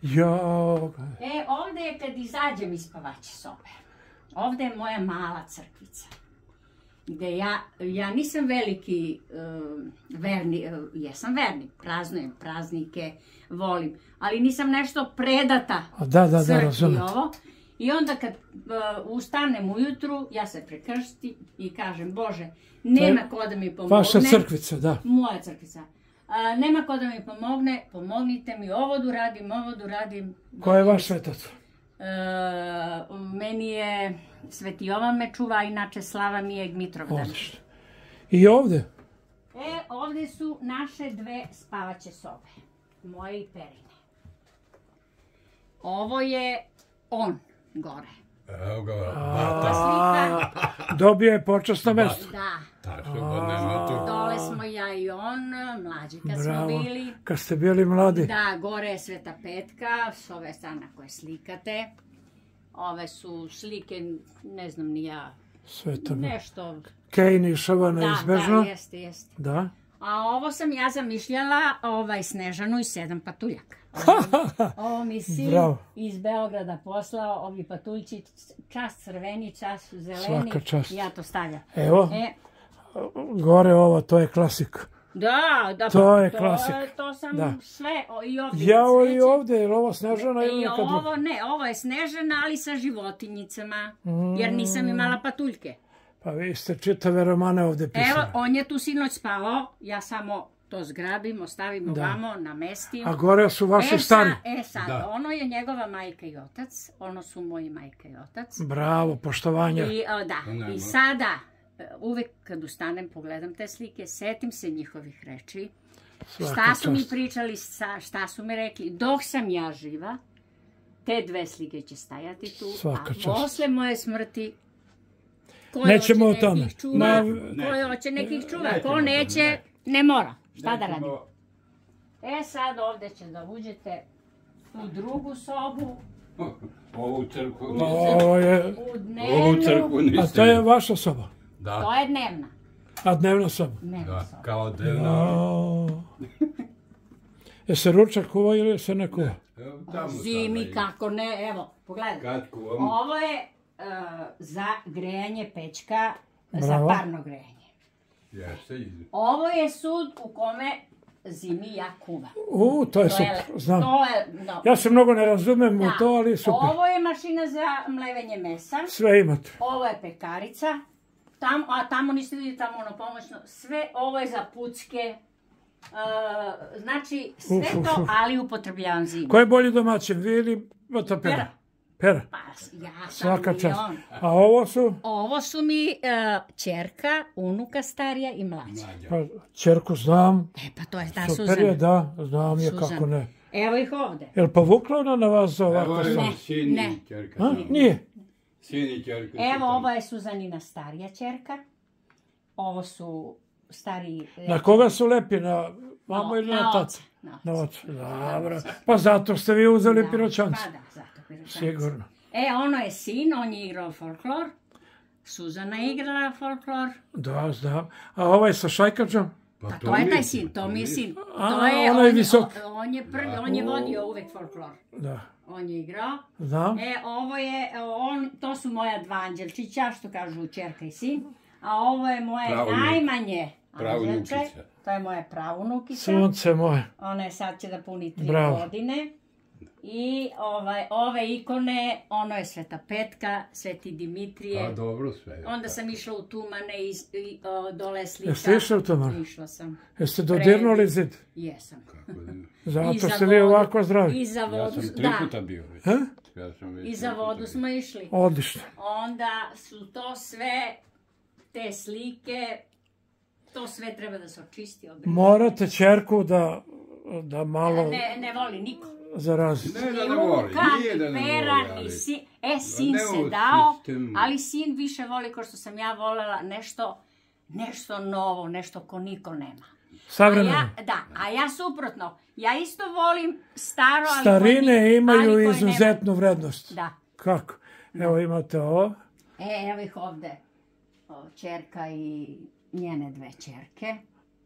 Jo. Ovde je kad izađem iz spavaće sobe. Ovde je moja mala crkvica. Gde ja nisam veliki jesam vernik, praznujem praznike, volim, ali nisam nešto predata crkvi ovo. I onda kad ustanem ujutru, ja se prekrštim i kažem, Bože, nema ko da mi pomogne. Vaša crkvica, da. Moja crkvica. Nema ko da mi pomogne, pomognite mi, ovo da uradim. Ko je vaš svetac? Meni je Sveti Jovan me čuva, inače Slava mi je Dmitrovdan. Odlično. I ovde? Ovde su naše dve spavaće sobe. Moje i Perine. Ovo je on gore. Evo ga, dobio je počasno mesto. Da. Tačno, nema tu. Dole smo ja i on, mlađi kad smo bili. Kad ste bili mladi. Da, gore je Sveta Petka, s ove strane koje slikate. Ove su slike, ne znam ni ja, nešto... Kejn išava neizbežno. Da, jeste. Da. A ovo sam ja zamišljala, Snežanu i 7 patuljaka. Ovo mi sin iz Beograda poslao, ovi patuljci, čas crveni, čas zeleni. Svaka čast. I ja to stavljam. Evo, gore ovo, to je klasik. Da, to je klasik. To sam sve i ovdje. Jao i ovdje, je li ovo Snežana ili neka druga? Ne, ovo je Snežana, ali sa životinjicama, jer nisam imala patuljke. Pa vi ste čitave romane ovdje pisali. Evo, on je tu sinoć spavao, ja samo to zgrabim, ostavim ovamo, namestim. A gore su vaši stari? Sad, ono je njegova majka i otac, ono su moji majka i otac. Bravo, poštovanje. I sada, uvek kad ustanem, pogledam te slike, setim se njihovih reči, šta su mi pričali, šta su mi rekli, dok sam ja živa, te dve slike će stajati tu, a posle moje smrti, nećemo o tome. Ko hoće nekih čuva, ko neće, ne mora. Šta da radim? Sad ovde će da uđete u drugu sobu. Ovu crkvu u dnevnu. A to je vaša soba? Da. To je dnevna. A dnevna soba? Dnevna soba. Kao dnevna. Je se ručak kuva ili se ne kuva? Zimi, kako ne, evo, pogledaj. Ovo je za grejanje pećka, za parno grejanje. Ovo je sud u kome zimi ja kuvam. To je super, znam. Ja se mnogo ne razumem u to, ali super. Ovo je mašina za mlevenje mesa. Sve imate. Ovo je pekarica. A tamo niste vidjeli, tamo ono pomoćno. Sve ovo je za pucke. Znači, sve to, ali upotrebljavam zimu. Ko je bolji domaćin, vi ili Pera? Pera? Pa, ja sam svaka i čast. on. A ovo su? Ovo su mi ćerka, unuka starija i mlađa. Pa, ćerku znam. Pa to je ta Suzana. Super je, da, znam je kako ne. Evo ih ovde. Je li povukla ona na vas za ovako sam? Ne. Nije? Sin i ćerka. Evo, ovo je Suzanina starija ćerka. Ovo su stariji... Na koga su lepi? Na mamu ili na taca? Na oca. Dobro. Pa zato ste vi uzeli Piroćanca. Pa da, zato Piroćanca. Sigurno. Ono je sin, on je igrao folklor. Suzana je igrala folklor. Da, znam. A ovaj sa Šajkačom? Pa to je taj sin, to mi je sin. On je visok. On je vodio uvek folklor. Da. On je igrao. Znam. Ovo je, to su moja dva anđelčića, što kažu ćerka i sin. A ovo je moje najmanje anđelče. To je moja pravunukica. Sunce moje. Ona je sad će da puni 3 godine. I ove ikone, ono je Sveta Petka, Sveti Dimitrije. A dobro sve. Onda sam išla u Tumane i dole slika. Jeste išla u Tumane? Išla sam. Jeste dodirnuli zid? Jesam. Zato ste vi ovako zdravi. I za vodu, ja sam 3 puta bio. I za vodu smo išli. Odlično. Onda su to sve, te slike, to sve treba da se očisti. Morate ćerku da malo... Ne voli niko. Zarazi. Ne da ne voli, nije da ne voli, ali... sin se dao, ali sin više voli, kao što sam ja volela, nešto novo, nešto ko niko nema. Savremeno. Da, a ja suprotno. Ja isto volim staro, ali... Starine imaju izuzetnu vrednost. Da. Kako? Evo imate ovo. Evo ih ovde. Ćerka i njene 2 ćerke.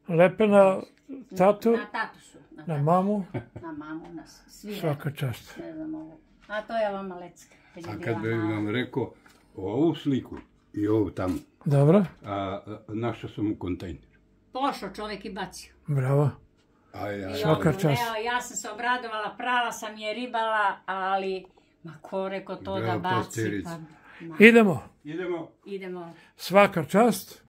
Lepe na tatu, Na tatu su. na mamu, Na mamu, na svi. svaka čast. Ne znam ovo. A to je vama lecka. A kad bi vam rekao ovu sliku i ovu tamo, Dobro, našao sam u kontejneru. Pošao čovjek i bacio. bravo. A ja, Svaka čast. Evo, ja sam se obradovala, prala sam je ribala, ali ma ko rekao to da Bravo, baci, pasterica. pa... Idemo, idemo. Idemo. svaka čast.